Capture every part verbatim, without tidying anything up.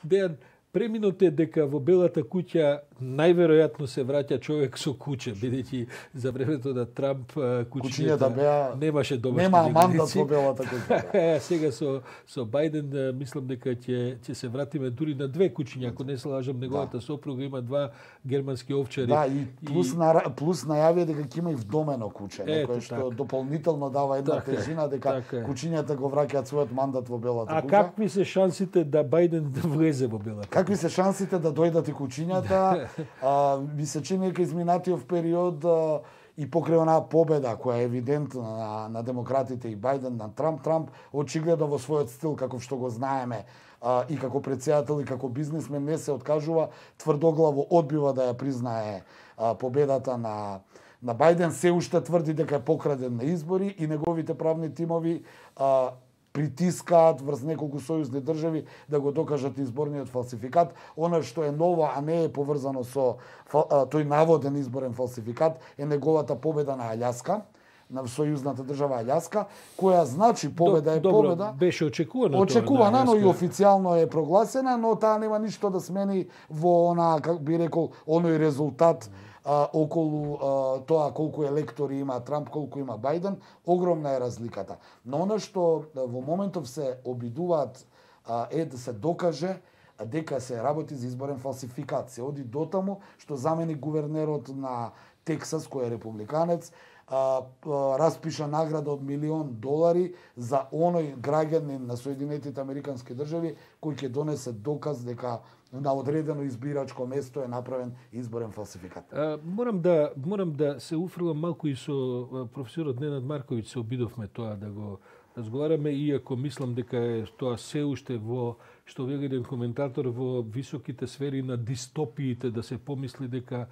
Дејан, преминото е дека во Белата куќа најверојатно се враќа човек со куќе, бидејќи за времето на Трамп куќињата беа немаше домашни нема мандат во Белата куќа. Сега со со Бајден мислам дека ќе ќе се вратиме дури на две куќиња, ако не се лажам, неговата да. сопруга има два германски овчари. Да, и плюс и... на плюс најави дека ќе има и вдомено куќе, некој што така. дополнително дава една така, тежина дека така. куќињата го враќаат својот мандат во Белата а куќа. А какви се шансите да Бајден да влезе во Белата куќа? Какви се шансите да дојдат и куќињата? а, ми се чини дека изминатиот период а, и покрај онаа победа која е евидентна на, на демократите и Бајден на Трамп, Трамп очигледно во својот стил, како што го знаеме, а, и како претседател и како бизнисмен не се откажува, тврдоглаво одбива да ја признае а, победата на на Бајден, се уште тврди дека е покраден на избори и неговите правни тимови а, притискаат врз неколку сојузни држави да го докажат изборниот фалсификат. Оно што е ново, а не е поврзано со тој наводен изборен фалсификат, е неговата победа на Аљаска, на сојузната држава Аљаска, која значи победа е Добро, победа. Беше очекувано. Очекувана, но и официјално е прогласена, но таа нема ништо да смени во она, како би рекол, оној резултат а, околу а, тоа колку електори има Трамп, колку има Бајден, огромна е разликата. Но она што во моментов се обидуваат а, е да се докаже дека се работи за изборен фалсификат. Се оди дотаму што замени гувернерот на Тексас, кој е републиканец, а, а, распиша награда од милион долари за оној граѓанин на Соединетите Американски држави кој ќе донесе доказ дека на одредено избирачко место е направен изборен фалсификат. А, морам да морам да се уфрлам малку и со професорот Ненад Марковиќ, се обидовме тоа да го разговараме, иако мислам дека е тоа се уште во, што вели еден коментатор, во високите сфери на дистопиите, да се помисли дека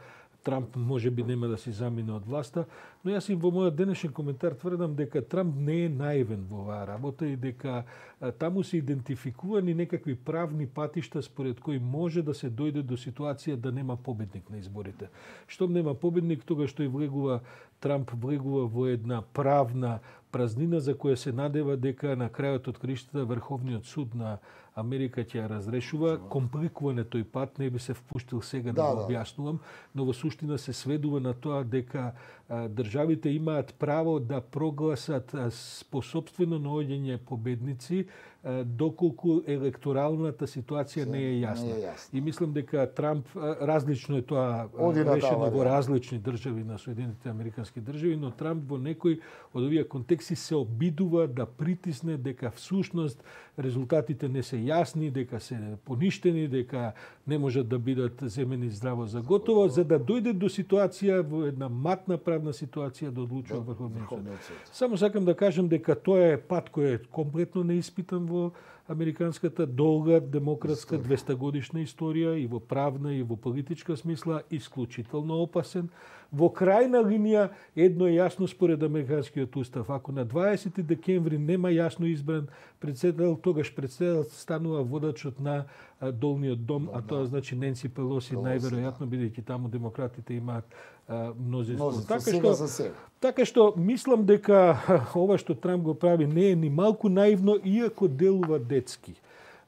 Трамп може би нема да си замине од власта, но јас и во мојот денешен коментар тврдам дека Трамп не е наивен во оваа работа и дека а, таму се идентификувани некакви правни патишта според кои може да се дојде до ситуација да нема победник на изборите. Штом нема победник, тогаш што и влегува Трамп влегува во една правна празнина за која се надева дека на крајот од краиштата Врховниот суд на Америка ќе ја разрешува. Компликуване тој пат, не би се впуштил сега да, да го објаснувам, но во суштина се сведува на тоа дека а, државите имаат право да прогласат а, по собствено наоѓање победници а, доколку електоралната ситуација не е јасна. Не е јасна. И мислам дека Трамп, а, различно е тоа а, решено во различни држави на Соединетите Американски држави, но Трамп во некој од овие контексти се обидува да притисне дека всушност резултатите не се јасни, дека се поништени, дека не можат да бидат земени здраво за готово, за да дојде до ситуација во една матна правна ситуација да одлучува Врховниот суд. Само сакам да кажам дека тоа е пат кој е комплетно неиспитан во американската долга демократска двеста годишна историја и во правна и во политичка смисла исклучително опасен. Во крајна линија едно е јасно според американскиот устав. Ако на дваесети декември нема јасно избран претседател, тогаш претседател станува водачот на долниот дом, а тоа значи Ненси Пелоси, најверојатно, бидејќи таму демократите имаат мнозинство. Така што, така што мислам дека ова што Трамп го прави не е ни малку наивно, иако делува детски.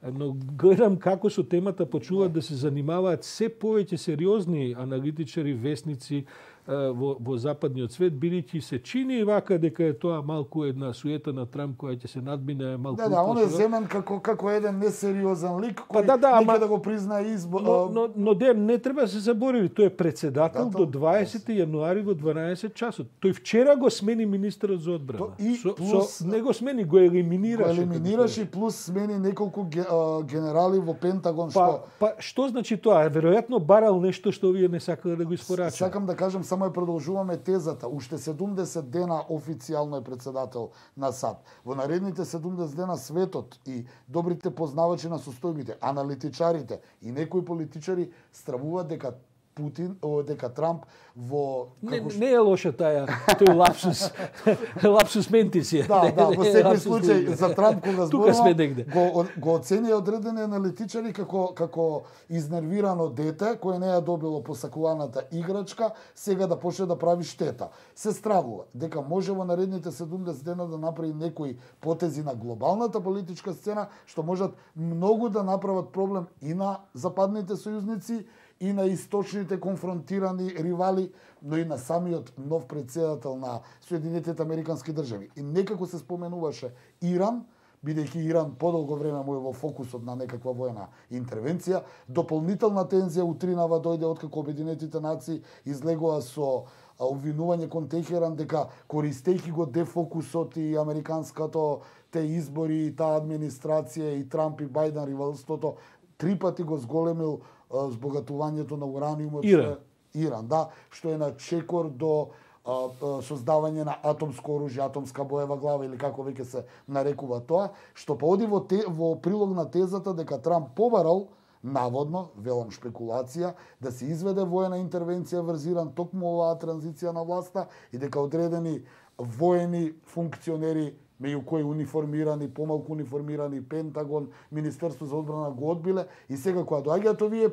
Но гледам како со темата почнуваат да се занимаваат се повеќе сериозни аналитичари, весници во, во западниот свет, бидејќи се чини вака дека е тоа малку една суета на Трамп која ќе се надмине малку. Да, да, он е земен како како еден несериозен лик кој па, да, да, нека ама, да го призна избор. Но, но, но де, не треба да се заборави, тој е претседател да, до дваесети јануари во дванаесет часот. Тој вчера го смени министерот за одбрана. И со, плюс, со, не го смени, го елиминираше. Го елиминираше и плюс смени неколку генерали во Пентагон. Па, што... па што значи тоа? Веројатно барал нешто што вие не сакале да го испорачат. Сакам да кажам, само ја продолжуваме тезата. Уште седумдесет дена официјално е претседател на САД. Во наредните седумдесет дена светот и добрите познавачи на состојбите, аналитичарите и некои политичари стравуваат дека Путин, о, дека Трамп во како не, не е лоша таа тој лапсус лапсус ментис е. Да, да, во секој случај за Трамп кога зборува го го оценија одредени аналитичари како како изнервирано дете кое не ја добило посакуваната играчка, сега да почне да прави штета. Се стравува дека може во наредните седумдесет дена да направи некои потези на глобалната политичка сцена што можат многу да направат проблем и на западните сојузници и на источните конфронтирани ривали, но и на самиот нов претседател на Соединетите Американски држави. И некако се споменуваше Иран, бидејќи Иран подолго време му е во фокусот на некаква војна интервенција, дополнителна тензија утринава дојде откако Обединетите нации излегоа со обвинување кон Техеран дека користејќи го дефокусот и американското те избори и таа администрација и Трамп и Бајден ривалството три пати го зголемил збогатувањето на ураниумот Иран. Иран, да, што е на чекор до а, а, создавање на атомско оружје, атомска боева глава или како веќе се нарекува тоа, што поди во, те, во прилог на тезата дека Трамп побарал, наводно, велам шпекулација, да се изведе воена интервенција врз Иран токму оваа транзиција на власта и дека одредени воени функционери меѓу кои униформирани, помалку униформирани, Пентагон, Министерство за одбрана го одбиле и сега кога доаѓаат овие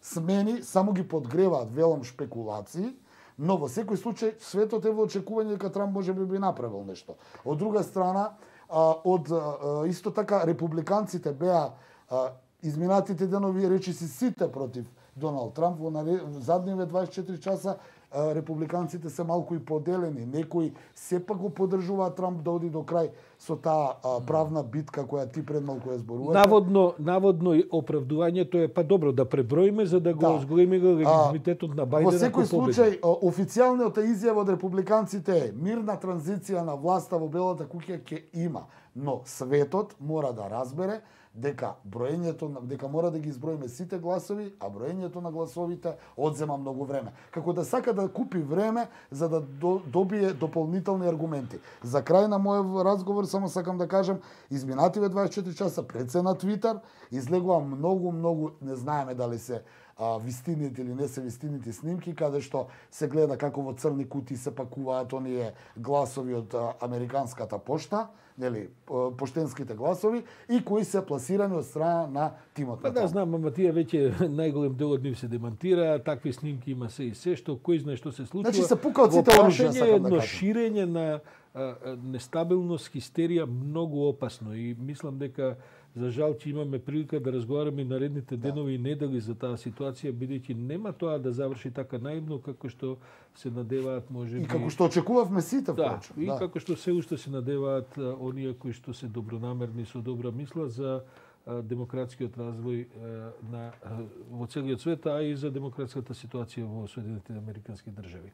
смени, само ги подгреваат, велам шпекулации, но во секој случај светот е во очекување дека Трамп може би би направил нешто. Од друга страна, од исто така републиканците беа изминатите денови речиси сите против Доналд Трамп во задниве дваесет и четири часа. Републиканците се малку и поделени. Некои сепак го поддржуваат Трамп да оди до крај со таа правна битка која ти пред малку ја зборувате. Наводно, наводно оправдувањето е па добро да преброиме за да го да. Зголеми легитимитетот на Бајден. Во секој случај официјалната изјава од републиканците е мирна транзиција на власта во Белата куќа ќе има, но светот мора да разбере дека броењето дека мора да ги изброиме сите гласови, а броењето на гласовите одзема многу време. Како да сака да купи време за да до, добие дополнителни аргументи. За крај на мојот разговор само сакам да кажам, изминативе дваесет и четири часа пред се на Твитер излегува многу многу, не знаеме дали се а, вистините или не се вистините снимки, каде што се гледа како во црни кутии се пакуваат оние гласови од а, американската пошта, нели, поштенските гласови и кои се пласирани од страна на тимот. Па да, знам, ама тие веќе најголем дел од нив се демантира, такви снимки има се и се, што кој знае што се случува. Значи се пукаат сите оружја, сакам да едно кажам. ширење на а, нестабилност, хистерија многу опасно и мислам дека за жал че имаме прилика да разговараме наредните денови и недели за таа ситуација, бидејќи нема тоа да заврши така наивно како што се надеваат можеби. И како што очекувавме сите, да, впрочем. И да. Како што се уште се надеваат а, оние кои што се добронамерни со добра мисла за а, демократскиот развој а, на а, во целиот свет, а и за демократската ситуација во Соединетите Американски држави.